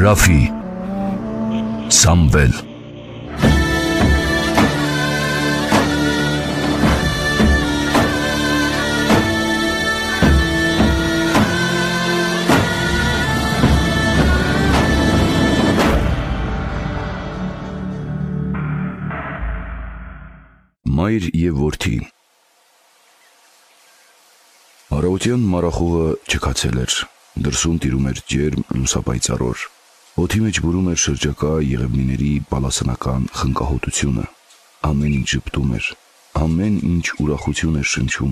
Ռաֆի Սամվել Մայր և որդի Առավոտյան մարախուղը չքացել էր, դրսում տիրում էր ջերմ լուսապայծառ օր, օդի մեջ բուրում էր շրջակա եղևնիների բալասանական խնկահոտությունը, ամեն ինչ ժպտում էր, ամեն ինչ ուրախություն էր շնչում,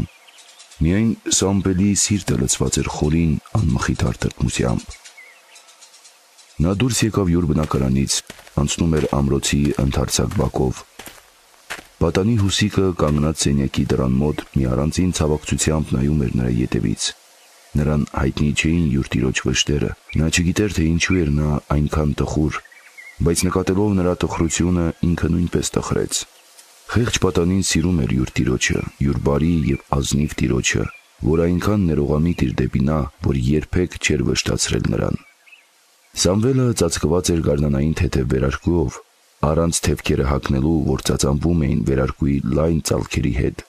միայն Սամվելի սիրտը լցված էր խորին անմխիթար տրտմությամբ։ Նա դուրս եկավ յուր բնակարանից, անցնում էր ամրոցի ընդարձակ բակով, պատանի հուսիկը կանգնած սենյակի դռան մոտ մի առանձին ցավակցությամբ նայում էր նրա ետևից, նրան հայտնի չէին յուր տիրոջ վշտերը, նա չգիտեր, թե ինչու էր նա այնքան տխուր, բայց նկատելով նրա տխրությունը ինքը նույնպես տխրեց։ Խեղճ պատանին սիրում էր յուր տիրոջը, յուր բարի և ազնիվ տիրոջը, որ այնքան ներողամիտ էր դեպի նա, որ երբեք չէր վշտացրել նրան։ Սամվելը ծածկված էր գարնանային թեթև վերարկուով, առանց թևքերը հագնելու, որ ծածանվում էին վերարկուի լայն ծալքերի հետ։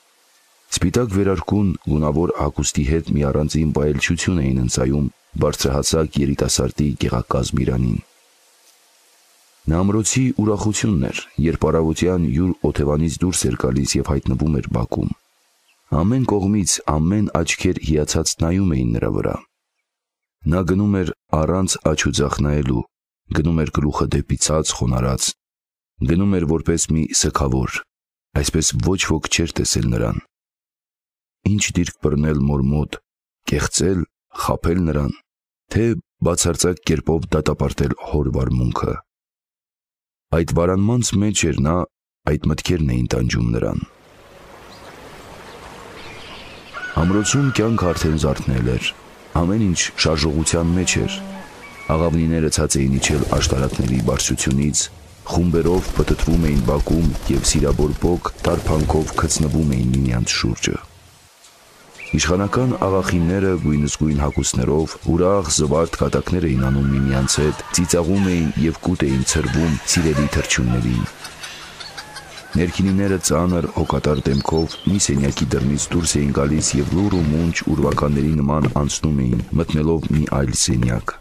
Սպիտակ վերարկուն գունավոր հագուստի հետ մի առանձին վայելչություն էին ընծայում բարձրահասակ երիտասարդի գեղակազմ իրանին։ Նա ամրոցի ուրախությունն էր, երբ առավոտյան յուր օթևանից դուրս էր գալիս և հայտնվում էր բակում։ Ամեն կողմից ամեն աչքեր հիացած նայում էին նրա վրա։ Նա գնում էր առանց աջ ու ձախ նայելու, գնում էր գլուխը դեպի ցած խոնարհած, գնում էր որպես մի սգավոր, այսպես ոչ ոք չէր տեսել նրան։ Ինչ դիրք բռնել մոր մոտ, կեղծել, խաբել նրան, թե բացարձակ կերպով դատապարտել հոր վարմունքը։ Այդ վարանմանց մեջ էր նա, այդ մտքերն էին տանջում նրան։ Ամրոցում կյանքը արդեն զարթնել էր, ամեն ինչ շարժողության մեջ էր, աղավնիները ցած էին իջել աշտարակների բարձրությունից, խումբերով պտտվում էին բակում և սիրավոր բոկ տարփանքով գցնվում էին միմյանց շուրջը։ Իշխանական աղախինները գույնզգույն հագուստներով ուրախ զվարթ կատակներ էին անում միմյանց հետ, ծիծաղում էին և կուտ էին ցրվում սիրելի թռչուններին։ Ներքինիները ծանր հոգատար դեմքով մի սենյակի դռնից դուրս էին գալիս և լուռ ու մունջ ուրվականների նման անցնում էին, մտնելով մի այլ սենյակ։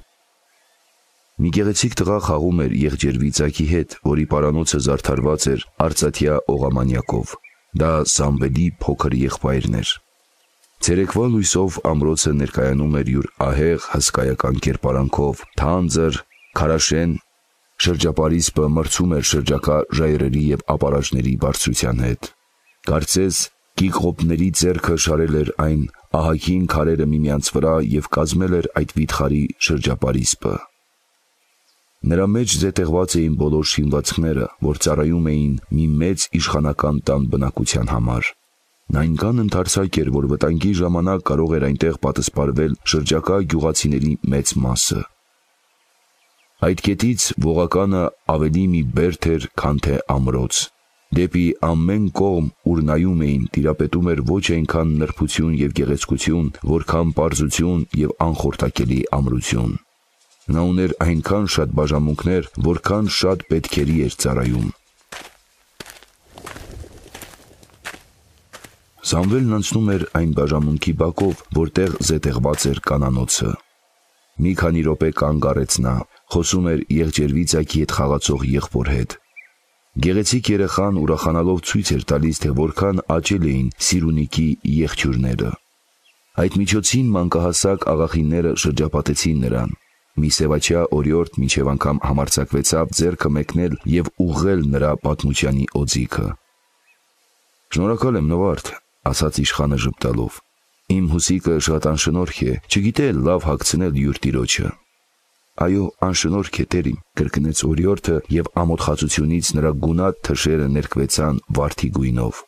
Մի գեղեցիկ տղա խաղում էր եղջերվի ծագի հետ, որի պարանոցը զարդարված էր արծաթյա օղամանյակով։ Դա Սամվելի փոքր եղբայրն էր։ Ցերեկվա լույսով ամրոցը ներկայանում էր յուր ահեղ հսկայական կերպարանքով, թանձր, քարաշեն, շրջապարիսպը մրցում էր շրջակա ժայռերի և ապարաժների բարձրության հետ։ Կարծես կիղղոբների ձեռքը շարել էր այն ահագին քարերը միմյանց վրա և կազմել էր այդ վիթխարի շրջապարիսպը։ Նրա մեջ զետեղված էին բոլոր շինվածքները, որ ծառայում էին մի մեծ իշխանական տան բնակության համար։ Նա այնքան ընդարձակ էր, որ վտանգի ժամանակ կարող էր այնտեղ պատսպարվել շրջակա գյուղացիների մեծ մասը։ Այդ կետից ողականը ավելի մի բերդ էր, քան թե ամրոց։ Դեպի ամեն կողմ, ուր նայում էին, տիրապետում էր ոչ այնքան նրբություն և գեղեցկություն, որքան պարզություն և անխորտակելի ամրություն։ Նա ուներ այնքան շատ բաժանմունքներ, որքան շատ պետքերի էր ծառայում։ Սամվելն անցնում էր այն բաժանմունքի բակով, որտեղ զետեղված էր կանանոցը։ Մի քանի րոպե կանգ առեց նա, խոսում էր եղջերվի ծագի հետ խաղացող եղբոր հետ։ Գեղեցիկ երեխան ուրախանալով ցույց էր տալիս, թե որքան աճել էին Սիրունիկի եղջյուրները։ Այդ միջոցին մանկահասակ աղախինները շրջապատեցին նրան։ Մի սևաչյա օրիորդ մինչև անգամ համարձակվեցավ ձեռքը մեկնել և ուղղել նրա պատմությանի օձիքը։ «Շնորհակալ եմ, Նովարդ», ասաց իշխանը ժպտալով։ «Իմ հուսիկը շատ անշնորհք է, չգիտե լավ հագցնել յուր տիրոջը»։ «Այո, անշնորհք է, տերիմ», կրկնեց օրիորդը և ամոթխածությունից նրա գունատ թշերը ներկվեցան վարդի գույնով։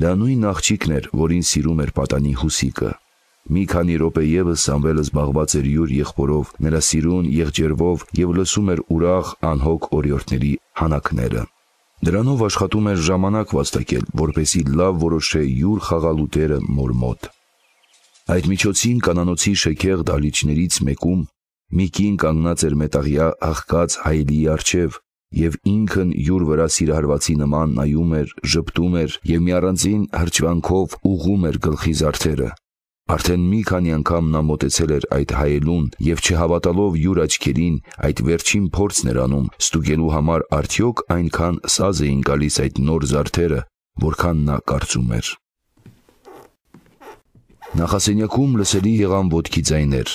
Դա նույն աղջիկն էր, որին սիրում էր պատանի հուսիկը։ Մի քանի րոպե ևս Սամվելը զբաղված էր յուր եղբորով, նրա սիրուն եղջերվով և լսում էր ուրախ անհոգ օրիորդների հանակները։ Դրանով աշխատում էր ժամանակ վաստակել, որպեսզի լավ որոշե յուր խաղալու տեղը մոր մոտ։ Այդ միջոցին կանանոցի շքեղ դահլիճներից մեկում Մի կին կանգնած էր մետաղյա աղքած հայելիի առջև, և ինքն յուր վրա սիրահարվածի նման նայում էր, ժպտում էր և մի առանձին հրճվանքով ուղղում էր գլխի զարդերը։ Արդեն մի քանի անգամ նա մոտեցել էր այդ հայելուն և չհավատալով յուր աչքերին, այդ վերջին փորձն էր անում ստուգելու համար արդյոք այնքան սազ էին գալիս այդ նոր զարդերը, որքան նա կարծում էր։ Նախասենյակում լսելի եղան ոտքի ձայներ։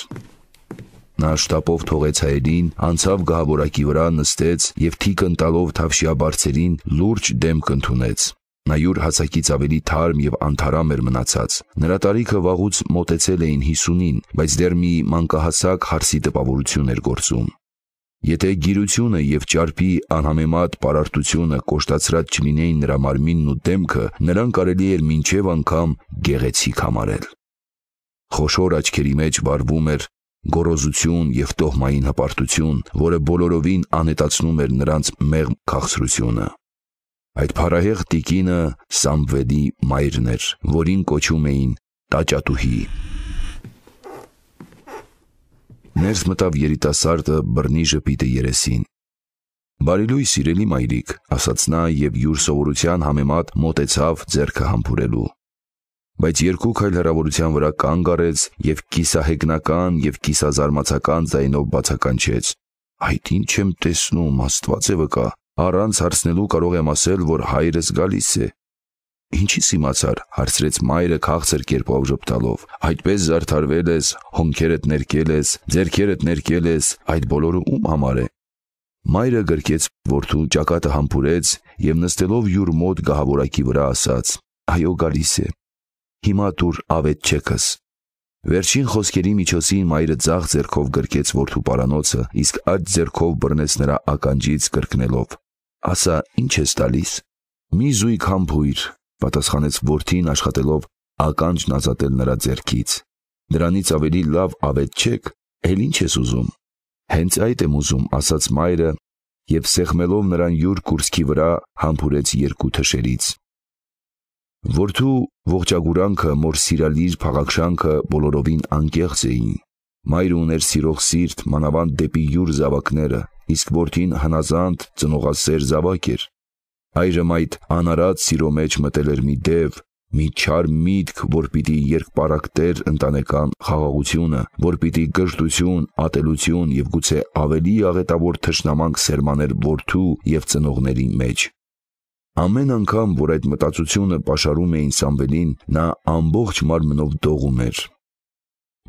Նա շտապով թողեց հայելին, անցավ գահավորակի վրա, նստեց և թիկն տալով թավշյա բարձերին լուրջ դեմք ընդունեց։ Նա յուր հասակից ավելի թարմ և անթարամ էր մնացած։ Նրա տարիքը վաղուց մոտեցել էին 50-ին, բայց դեռ մի մանկահասակ հարսի տպավորություն էր գործում։ Եթե գիրությունը և ճարպի անհամեմատ պարարտությունը կոշտացրած չլինեին նրա մարմինն ու դեմքը, նրան կարելի էր մինչև անգամ գեղեցիկ համարել։ Խոշոր աչքերի մեջ վառվում էր գոռոզություն և տոհմային հպարտություն, որը բոլորովին անհետացնում էր նրանց մեղմ քաղցրությունը։ Այդ փառահեղ տիկինը Սամվելի մայրն էր, որին կոչում էին տաճատուհի։ Ներս մտավ երիտասարդը բռնի ժպիտը երեսին։ «Բարի լույս, սիրելի մայրիկ», ասաց նա և յուր սովորության համեմատ մոտեցավ ձեռքը համբուրելու։ Բայց երկու քայլ հեռավորության վրա կանգ առեց և կիսահեգնական և կիսազարմացական ձայնով բացականչեց. «Այդ ինչ եմ տեսնում, Աստված է վկա, առանց հարցնելու կարող եմ ասել, որ հայրս գալիս է»։ «Ինչից իմացար», հարցրեց մայրը քաղցր կերպով ժպտալով։ «Այդպես զարդարվել ես, հոնքերդ ներկել ես, ձեռքերդ ներկել ես, այդ բոլորը ում համար է»։ Մայրը գրկեց որդու ճակատը համբուրեց և նստելով յուր մոտ գահավորակի վրա ասաց. «Այո, գալիս է։ Հիմա տուր ավետչեքս»։ Վերջին խոսքերի միջոցին մայրը ձախ ձեռքով գրկեց որդու պարանոցը, իսկ աջ ձեռքով բռնեց նրա ականջից կրկնելով. «Ասա, ինչ ես տալիս»։ «Մի զույգ համբույր», պատասխանեց որդին, աշխատելով ականջն ազատել նրա ձեռքից։ «Դրանից ավելի լավ ավետչեք, էլ ինչ ես ուզում»։ «Հենց այդ եմ ուզում», ասաց մայրը և սեղմելով նրան յուր կուրծքի վրա համբուրեց երկու թշերից։ Որդու ողջագուրանքը, մոր սիրալիր փաղաքշանքը բոլորովին անկեղծ էին։ Մայրը ուներ սիրող սիրտ, մանավանդ դեպի յուր զավակները, իսկ որդին հնազանդ, ծնողասեր զավակ էր։ Այժմ այդ անարատ սիրո մեջ մտել էր մի դև, մի չար միտք, որ պիտի երկպառակտեր ընտանեկան խաղաղությունը, որ պիտի գժտություն, ատելություն և գուցե ավելի աղետավոր թշնամանք սերմաներ որդու և ծնողների մեջ։ Ամեն անգամ, որ այդ մտածությունը պաշարում էին Սամվելին, նա ամբողջ մարմնով դողում էր։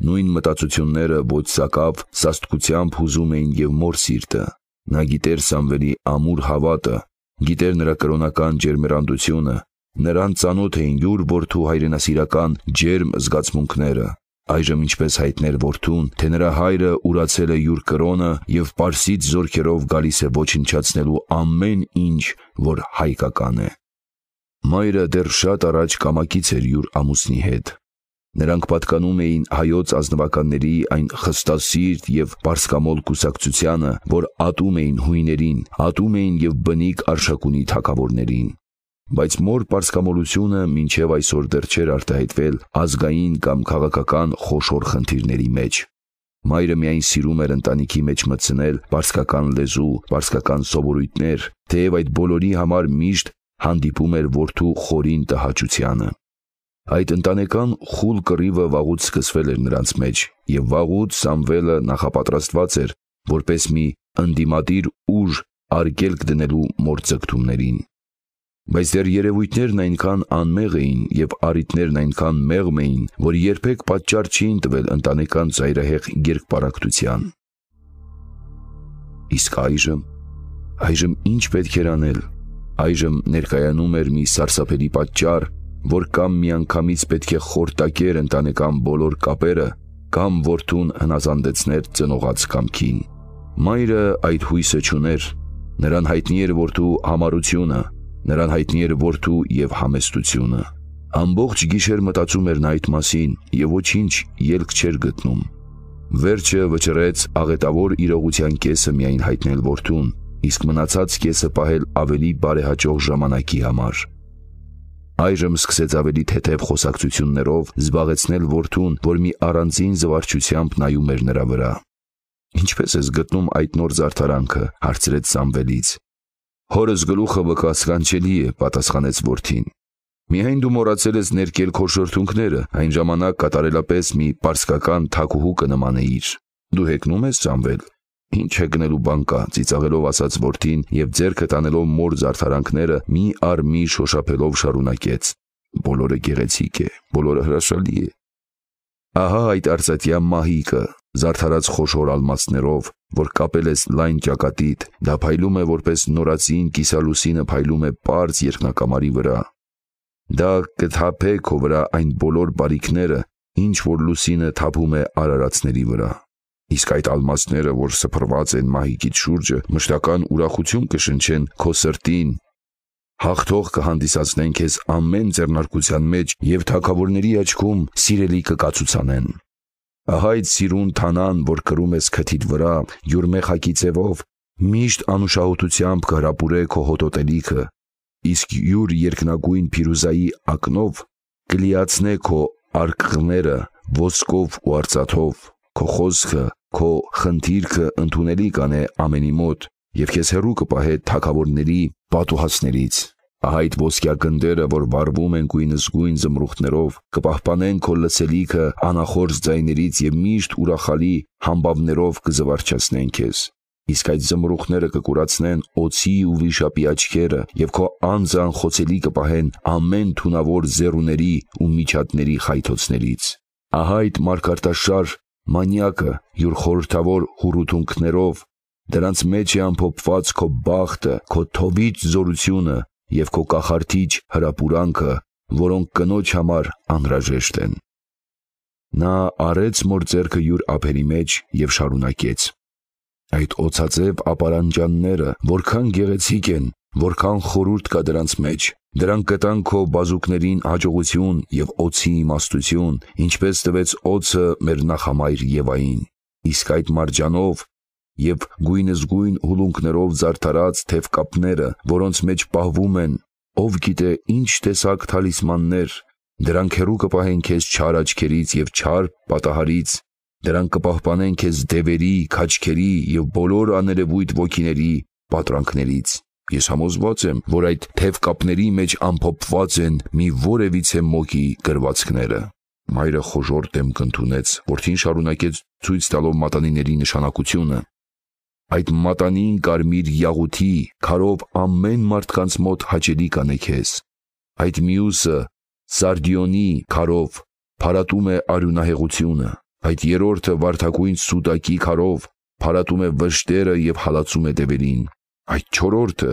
Նույն մտածությունները ոչ սակավ սաստկությամբ հուզում էին և մոր սիրտը։ Նա գիտեր Սամվելի ամուր հավատը, գիտեր նրա կրոնական ջերմեռանդությունը, նրան ծանոթ էին յուր որդու հայրենասիրական ջերմ զգացմունքները։ Այժմ ինչպես հայտներ որդուն, թե նրա հայրը ուրացել է յուր կրոնը և պարսից զորքերով գալիս է ոչնչացնելու ամեն ինչ, որ հայկական է։ Մայրը դեռ շատ առաջ կամակից էր յուր ամուսնի հետ։ Նրանք պատկանում էին հայոց ազնվականների այն խստասիրտ և պարսկամոլ կուսակցությանը, որ ատում էին հույներին, ատում էին և բնիկ արշակունի թագավորներին։ Բայց մոր պարսկամոլությունը մինչև այսօր դեռ չէր արտահայտվել ազգային կամ քաղաքական խոշոր խնդիրների մեջ։ Մայրը միայն սիրում էր ընտանիքի մեջ մտցնել պարսկական լեզու, պարսկական սովորույթներ, թեև այդ բոլորի համար միշտ հանդիպում էր որդու խորին տհաճությանը։ Այդ ընտանեկան խուլ կռիվը վաղուց սկսվել էր նրանց մեջ, և վաղուց Սամվելը նախապատրաստված էր որպես մի ընդդիմադիր ուժ արգելք դնելու մոր ձգտումներին։ Բայց դեռ երևույթներն այնքան անմեղ էին և առիթներն այնքան մեղմ էին, որ երբեք պատճառ չէին տվել ընտանեկան ծայրահեղ երկպառակտության։ Իսկ այժմ ինչ պետք էր անել։ Այժմ ներկայանում էր մի սարսափելի պատճառ, որ կամ միանգամից պետք է խորտակեր ընտանեկան բոլոր կապերը, կամ որդուն հնազանդեցներ ծնողած կամքին։ Մայրը այդ հույսը չուներ։ Նրան հայտնի էր որդու համառությունը, նրան հայտնի էր որդու և համեստությունը։ Ամբողջ գիշեր մտածում էր նա այդ մասին և ոչինչ ելք չէր գտնում։ Վերջը վճռեց աղետավոր իրողության կեսը միայն հայտնել որդուն, իսկ մնացած կեսը պահել ավելի բարեհաճող ժամանակի համար։ Այժմ սկսեց ավելի թեթև խոսակցություններով զբաղեցնել որդուն, որ մի առանձին զվարճությամբ նայում էր նրա վրա։ Ինչպես ես գտնում այդ նոր զարդարանքը, հարցրեց Սամվելից։ Հորս գլուխը վկասկանչելի է, պատասխանեց որդին։ Միայն դու մոռացել ես ներկել քո շրթունքները, այն ժամանակ կատարելապես մի պարսկական թագուհու կնմանեիր։ Դու հեգնում ես, Սամվել։ Ինչ հեգնելու բան կա, ծիծաղելով ասաց որդին եւ ձեռքը տանելով մոր զարդարանքները մի առ մի շոշափելով շարունակեց։ Բոլորը գեղեցիկ է, բոլորը հրաշալի է։ Ահա այդ արծաթյա մահիկը, զարդարած խոշոր ալմասներով, որ կապել ես լայն ճակատիդ, դա փայլում է որպես նորածին կիսալուսինը փայլում է պարզ երկնակամարի վրա։ Դա կթափե քո վրա այն բոլոր բարիքները, ինչ որ լուսինը թափում է արարածների վրա։ Իսկ այդ ալմասները, որ սփռված են մահիկիդ շուրջը, մշտական ուրախություն կշնչեն քո սրտին։ Հաղթող կհանդիսացնեն քեզ ամեն ձեռնարկության մեջ եւ թագավորների աչքում սիրելի կկացուցանեն։ Ահա այդ սիրուն թանան, որ կրում ես քթիդ վրա, յուր մեխակի ձևով, միշտ անուշահոտությամբ կհրապուրե քո հոտոտելիքը, իսկ յուր երկնագույն փիրուզայի ակնով կլիացնե քո արկղները ոսկով ու արծաթով, քո խոսքը, քո խնդիրքը ընդունելի կանե ամենի մոտ եւ քեզ հեռու կպահե թագավորների պատուհասներից։ Ահա այդ ոսկյա գնդերը, որ վառվում են գույնզգույն զմրուխտներով, կպահպանեն քո լսելիքը անախորժ ձայներից եւ միշտ ուրախալի համբավներով կզվարճացնեն քեզ։ Իսկ այդ զմրուխտները կկուրացնեն օծի ու վիշապի աչքերը եւ քո անձը անխոցելի կպահեն ամեն թունավոր զեռուների ու միջատների խայթոցներից։ Ահա այդ մարգարտաշար մանյակը յուր խորհրդավոր հուրութունքներով, դրանց մեջ է ամփոփված քո բախտը, քո թովիչ զորությունը եւ քո կախարդիչ հրապուրանքը, որոնք կնոջ համար անհրաժեշտ են։ Նա արեց մոր ձեռքը յուր ափերի մեջ եւ շարունակեց. Այդ օծածև ապարանջանները որքան գեղեցիկ են, որքան խորուրդ կա դրանց մեջ, դրանք կտան քո բազուկներին հաջողություն եւ օծի իմաստություն, ինչպես տվեց օծը մեր նախամայր Եվային։ Իսկ այդ մարջանով եւ գույնզգույն հուլունքներով զարդարած թևկապները, որոնց մեջ պահվում են, ով գիտե ինչ տեսակ թալիսմաններ, դրանք հեռու կպահեն քեզ չար աչքերից եւ չար պատահարից, դրանք կպահպանեն քեզ դևերի, քաչքերի եւ բոլոր աներևույթ ոգիների պատրանքներից։ Ես համոզված եմ, որ այդ թևկապների մեջ ամփոփված են մի որևիցե մոգի գրվածքները։ Մայրը խոժոր դեմք ընդունեց, որդին շարունակեց ցույց տալով մատանիների նշանակությունը։ Այդ մատանին կարմիր յաղութի քարով ամեն մարդկանց մոտ հաճելի կանե քեզ։ Այդ մյուսը սարդիոնի քարով փարատում է արյունահեղությունը։ Այդ երրորդը վարդագույն սուդակի քարով փարատում է վշտերը եւ հալածում է դևերին։ Այդ չորրորդը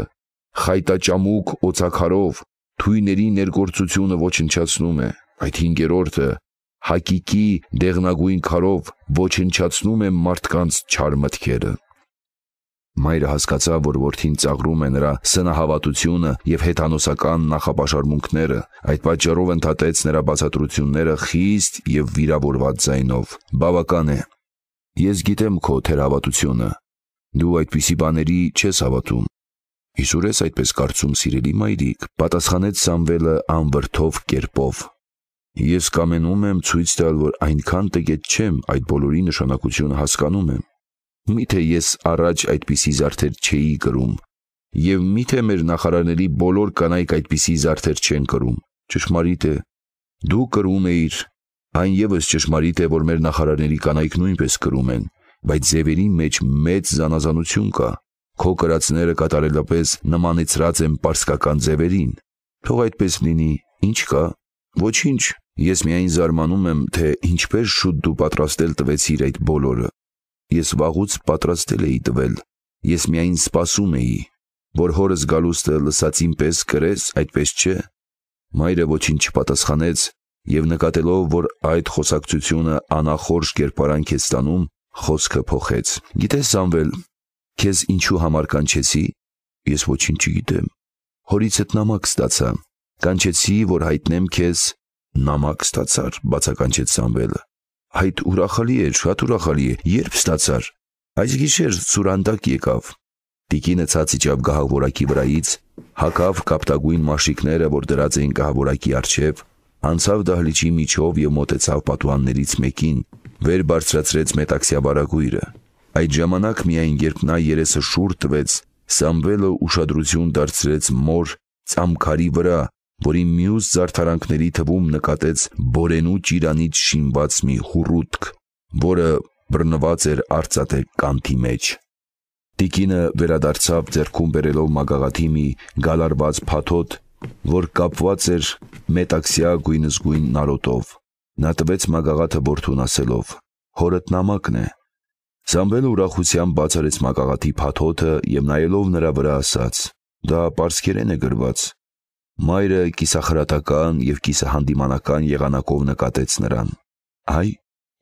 խայտաճամուկ օծակարով թույների ներգործությունը ոչնչացնում է։ Այդ հինգերորդը հակիկի դեղնագույն քարով ոչնչացնում է մարդկանց չար մտքերը։ Մայրը հասկացավ, որ որդին ծաղրում է նրա սնահավատությունը եւ հեթանոսական նախապաշարմունքները, այդ պատճառով ընդհատեց նրա բացատրությունները խիստ եւ վիրավորված ձայնով։ Բավական է։ Ես գիտեմ քո թերհավատությունը։ Դու այդպիսի բաների չես հավատում։ Իսուր ես այդպես կարծում, սիրելի մայրիկ, պատասխանեց Սամվելը անվրդով կերպով։ Ես կամենում եմ ցույց տալ, որ այնքան տգետ չեմ, այդ բոլորի նշանակությունը հասկանում եմ։ Միթե ես առաջ այդպիսի զարդեր չէի կրում, եւ միթե մեր նախարարների բոլոր կանայք այդպիսի զարդեր չեն կրում։ Ճշմարիտ է, դու կրում էիր, այն եւս ճշմարիտ է, որ մեր նախարարների կանայք նույնպես կրում են, բայց ձևերի մեջ մեծ զանազանություն կա։ Քո կրածները կատարելապես նմանեցրած են պարսկական ձևերին։ Թող այդպես լինի, ինչ կա։ Ոչինչ, ես միայն զարմանում եմ, թե ինչպես շուտ դու պատրաստել տվեցիր այդ բոլորը։ Ես վաղուց պատրաստել էի տվել, ես միայն սպասում էի, որ հորս գալուստը լսածին պես կրես, այդպես չէ։ Մայրը ոչինչ չպատասխանեց եւ նկատելով, որ այդ խոսակցությունը անախորժ կերպարանք է ստանում, խոսքը փոխեց։ Գիտես, Սամվել, քեզ ինչու համար կանչեցի։ Ես ոչինչ չգիտեմ։ Հորից հետ նամակ ստացա։ Կանչեցի, որ հայտնեմ քեզ։ Նամակ ստացար, բացականչեց Սամվելը։ Այդ ուրախալի է, շատ ուրախալի է։ Երբ ստացար։ Այս գիշեր սուրանդակ եկավ։ Տիկինը ցած իջավ գահավորակի վրայից, հագավ կապտագույն մաշիկները, որ դրած էին գահավորակի առջև, անցավ դահլիճի միջով եւ մոտեցավ պատուհաններից մեկին, վեր բարձրացրեց մետաքսյա վարագույրը։ Այդ ժամանակ միայն երբ նա երեսը շուռ տվեց, Սամվելը ուշադրություն դարձրեց մոր ծամքարի վրա, որի մյուս զարդարանքների թվում նկատեց բորենու ճիրանից շինված մի հուռուտք, որը բռնված էր արծաթե կանթի մեջ։ Տիկինը վերադարձավ ձեռքում բերելով մագաղաթի մի գալարված փաթոթ, որ կապված էր մետաքսյա գույնզգույն նարոտով։ Նա տվեց մագաղաթը որդուն ասելով. «Հորդ նամակն է»։ Սամվելը ուրախությամբ բացարեց մագաղաթի փաթոթը և նայելով նրա վրա ասաց. «Դա պարսկերեն է գրված»։ Մայրը կիսախրատական և կիսահանդիմանական եղանակով նկատեց նրան. «Այ,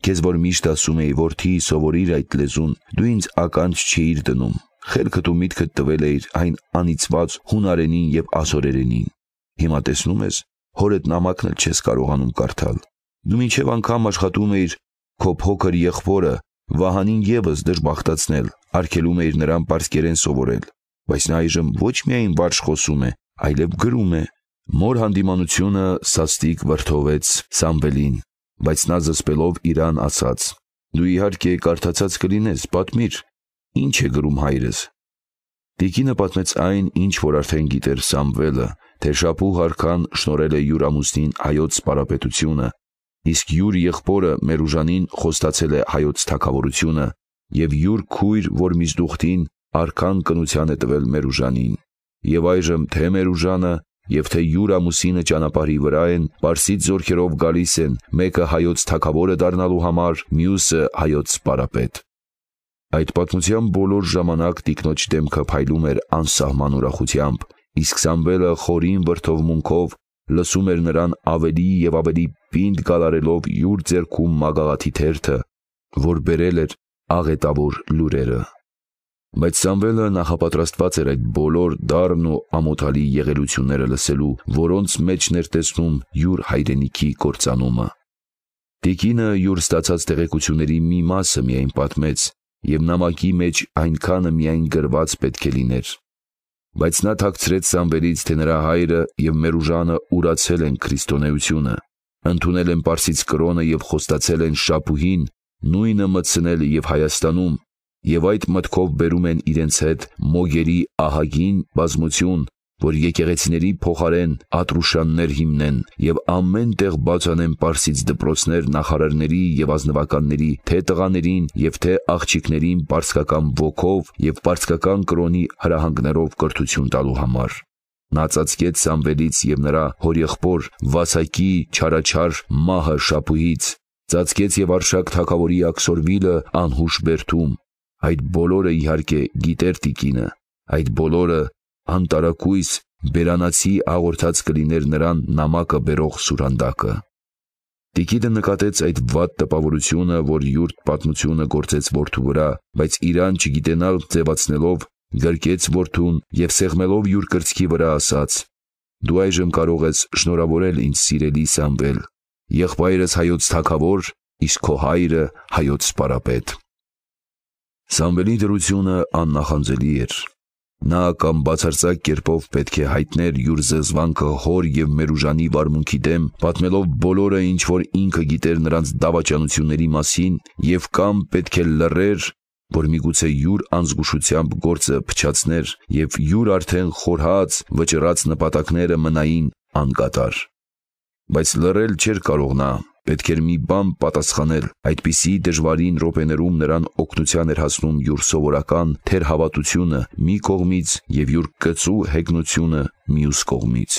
քեզ որ միշտ ասում էի, որդի, սովորիր այդ լեզուն, դու ինձ ականջ չէիր դնում, խելքդ ու միտքդ տվել էիր այն անիծված հունարենին և ասորերենին։ Հիմա տեսնում ես, հորդ նամակն էլ չես կարողանում կարդալ։ Դու մինչև անգամ աշխատում էիր քո փոքր եղբորը Վահանին ևս դժբախտացնել, արգելում էիր նրան պարսկերեն սովորել, բայց նա այժմ ոչ միայն վարժ խոսում է, այլև գրում է»։ Մոր հանդիմանությունը սաստիկ վրդովեց Սամվելին, բայց նա զսպելով իրան ասաց. «Դու իհարկե կարդացած կլինես, պատմիր, ինչ է գրում հայրս»։ Տիկինը պատմեց այն, ինչ որ արդեն գիտեր Սամվելը, թե շապուհ արքան շնորհել է յուր ամուսնին հայոց սպարապետությունը, իսկ յուր եղբորը Մերուժանին խոստացել է հայոց թագավորությունը, և յուր քույր Որմիզդուխտին արքան կնության է տվել Մերուժանին։ Եվ այժմ թե Մերուժանը և թե յուր ամուսինը ճանապարհի վրա են, պարսից զորքերով գալիս են, մեկը հայոց թագավորը դառնալու համար, մյուսը հայոց սպարապետ։ Այդ պատմության բոլոր ժամանակ տիկնոջ դեմքը փայլում էր անսահման ուրախությամբ, իսկ Սամվելը խորին վրդովմունքով լսում էր նրան ավելի և ավելի պինդ գալարելով յուր ձեռքում մագաղաթի թերթը, որ բերել էր աղետավոր լուրերը։ Բայց Սամվելը նախապատրաստված էր այդ բոլոր դառն ու ամոթալի եղելությունները լսելու, որոնց մեջն էր տեսնում յուր հայրենիքի կործանումը։ Տիկինը յուր ստացած տեղեկությունների մի մասը միայն պատմեց, և նամակի մեջ այնքանը միայն գրված պետք է լիներ։ Բայց նա թաքցրեց Սամվելից, թե նրա հայրը և Մերուժանը ուրացել են քրիստոնեությունը, ընդունել են պարսից կրոնը և խոստացել են շապուհին նույնը մտցնել և Հայաստանում, և այդ մտքով բերում են իրենց հետ մոգերի ահագին բազմություն, որ եկեղեցիների փոխարեն Ատրուշաններ հիմնեն և ամեն տեղ բաց անեն պարսից դպրոցներ նախարարների և ազնվականների, թե տղաներին և թե աղջիկներին պարսկական ոգով և պարսկական կրոնի հրահանգներով կրթություն տալու համար։ Նա ծածկեց Սամվելից և նրա հորեղբոր Վասակի չարաչար մահը շապուհից, ծածկեց և Արշակ թագավորի աքսորվիլը անհուշ բերդում։ Այդ բոլորը իհարկե գիտեր տիկինը, այդ բոլորը անտարակույս բերանացի աղորդած կլիներ նրան նամակը բերող սուրհանդակը։ Տիկինը նկատեց այդ վատ տպավորությունը, որ յուր պատմությունը գործեց որդու վրա, բայց իրան չգիտենալ ձևացնելով, գրկեց որդուն և սեղմելով յուր կրծքի վրա ասաց. «Դու այժմ կարող ես շնորհավորել ինձ սիրելի Սամվել, եղբայրս հայոց թագավոր, իսկ քո հայրը հայոց սպարապետ»։ Սամվելի դրությունը աննախանձելի էր։ Նա կամ բացարձակ կերպով պետք է հայտներ յուր զզվանքը հոր և Մերուժանի վարմունքի դեմ, պատմելով բոլորը, ինչ որ ինքը գիտեր նրանց դավաճանությունների մասին, և կամ պետք է լռեր, որ միգուցե յուր անզգուշությամբ գործը փչացներ և յուր արդեն խորհած, վճռած նպատակները մնային անկատար։ Բայց լռել չէր կարող նա, պետք էր մի բան պատասխանել, այդպիսի դժվարին րոպեներում նրան օգնության էր հասնում յուր սովորական թերհավատությունը մի կողմից և յուր կծու հեգնությունը մյուս կողմից։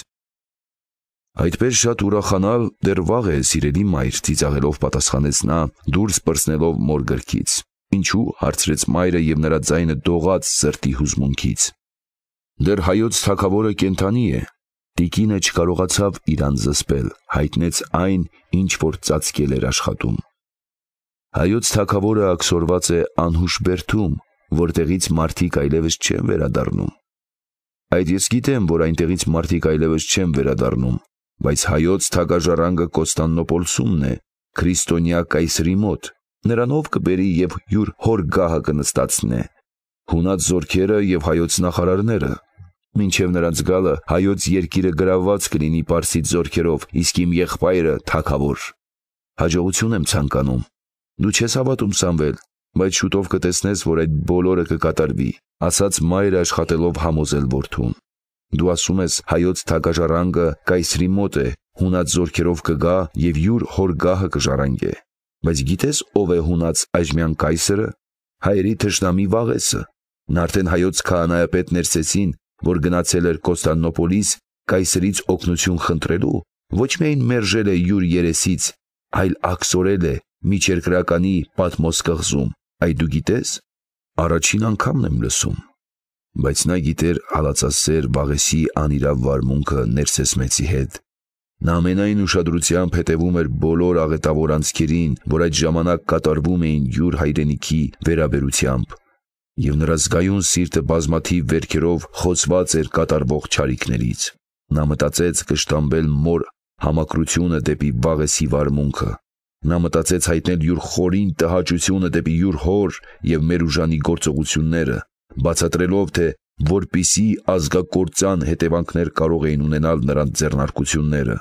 Այդպես շատ ուրախանալ դեռ վաղ է, սիրելի մայր, ծիծաղելով պատասխանեց նա, դուրս պրծնելով մոր գրքից։ Ինչու՞, հարցրեց մայրը և նրա ձայնը դողաց սրտի հուզմունքից։ Դեռ հայոց թագավորը կենդանի է։ Տիկինը չկարողացավ իրան զսպել, հայտնեց այն, ինչ որ ծածկել էր աշխատում։ Հայոց թագավորը աքսորված է անհուշ բերդում, որտեղից մարդիկ այլևս չեն վերադառնում։ Այդ ես գիտեմ, որ այնտեղից մարդիկ այլևս չեն վերադառնում, բայց հայոց թագաժառանգը Կոստանդնոպոլսումն է, քրիստոնյա կայսրի մոտ, նրանով կբերի և յուր հոր գահը կնստացնե, հունած զորքերը և հայոց նախարարները, մինչև նրանց գալը հայոց երկիրը գրավված կլինի պարսից զորքերով, իսկ իմ եղբայրը թագավոր։ Հաջողություն եմ ցանկանում։ Դու չես հավատում, Սամվել, բայց շուտով կտեսնես, որ այդ բոլորը կկատարվի, ասաց մայրը աշխատելով համոզել որդուն։ Դու ասում ես հայոց թագաժառանգը կայսրի մոտ է, հունած զորքերով կգա եւ յուր հոր գահը կժառանգե։ Բայց գիտես ով է հունած այժմյան կայսրը։ Հայերի թշնամի Վաղեսը։ Նա արդեն հայոց քահանայապետ Ներսեսին, որ գնացել էր Կոստանդնոպոլիս կայսրից օգնություն խնդրելու, ոչ միայն մերժել է յուր երեսից, այլ աքսորել է միջերկրականի Պատմոս կղզում։ Այդ դու գիտես։ Առաջին անգամն եմ լսում։ Բայց նա գիտեր հալածասեր Վաղեսի անիրավ վարմունքը Ներսես մեծի հետ։ Նա ամենայն ուշադրությամբ հետևում էր բոլոր աղետավոր անցքերին, որ այդ ժամանակ կատարվում էին յուր հայրենիքի վերաբերությամբ, եւ նրա զգայուն սիրտը բազմաթիվ վերքերով խոցված էր կատարվող չարիքներից։ Նա մտածեց կշտամբել մոր համակրությունը դեպի Վաղեսի վարմունքը։ Նա մտածեց հայտնել յուր խորին տհաճությունը դեպի յուր հոր եւ մեր ուժանի գործողությունները, բացատրելով թե որպիսի ազգակործան հետևանքներ կարող էին ունենալ նրանց ձեռնարկությունները։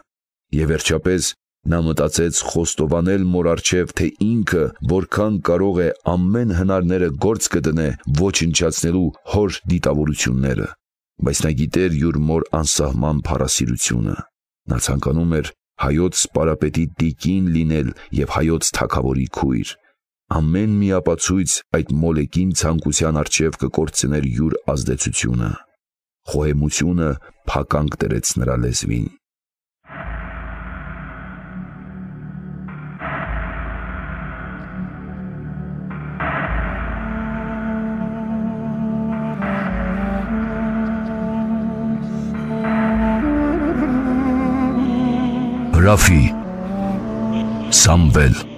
Եվ վերջապես նա մտածեց խոստովանել մոր առջև, թե ինքը որքան կարող է ամեն հնարները գործ կդնե ոչնչացնելու հոր դիտավորությունները։ Բայց նա գիտեր յուր մոր անսահման փառասիրությունը։ Նա ցանկանում էր հայոց սպարապետի տիկին լինել եւ հայոց թագավորի քույր։ Ամեն մի ապացույց այդ մոլեկին ցանկության առջև կկորցներ յուր ազդեցությունը։ Խոհեմությունը փականք դրեց նրա լեզվին։ Հրաֆի Սամվել